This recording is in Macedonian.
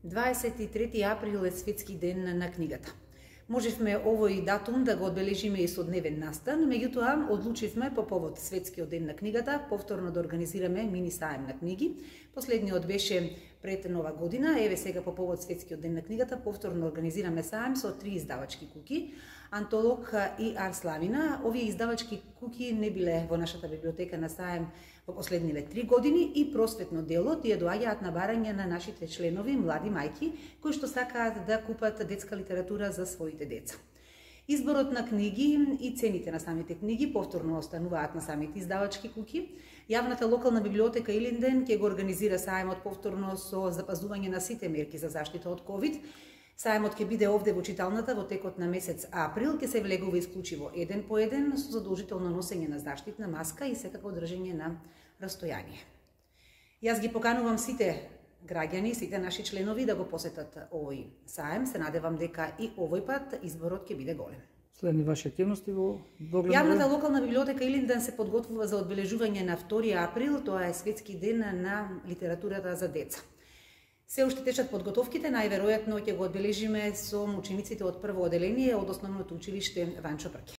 23 април е Светски ден на книгата. Можевме овој датум да го одбележиме и со дневен настан, меѓутоа одлучивме по повод Светскиот ден на книгата повторно да организираме мини саем на книги. Последниот беше пред Нова година, еве сега по повод Светскиот ден на книгата повторно организираме саем со 3 издавачки куќи, Антолог и Арславина. Овие издавачки куќи не биле во нашата библиотека на саем во последниве 3 години и просветно дело тие доаѓаат на барање на нашите членови, млади мајки, кои што сакаат да купат детска литература за своите деца. Изборот на книги и цените на самите книги повторно остануваат на самите издавачки куќи. Јавната локална библиотека Илинден ќе го организира саемот повторно со запазување на сите мерки за заштита од ковид. Саемот ќе биде овде во читалната во текот на месец април, ќе се влегува исклучиво еден по еден со задолжително носење на заштитна маска и секако држење на растојание. Јас ги поканувам сите граѓани, сите наши членови да го посетат овој саем. Се надевам дека и овој пат изборот ќе биде голем. Следни ваши активности во догледно време? Јавната локална библиотека Илинден се подготвува за одбележување на 2 април, тоа е Светски ден на литературата за деца. Се уште течат подготовките, најверојатно ќе го одбележиме со учениците од прво оделение од основното училиште Ванчо Брке.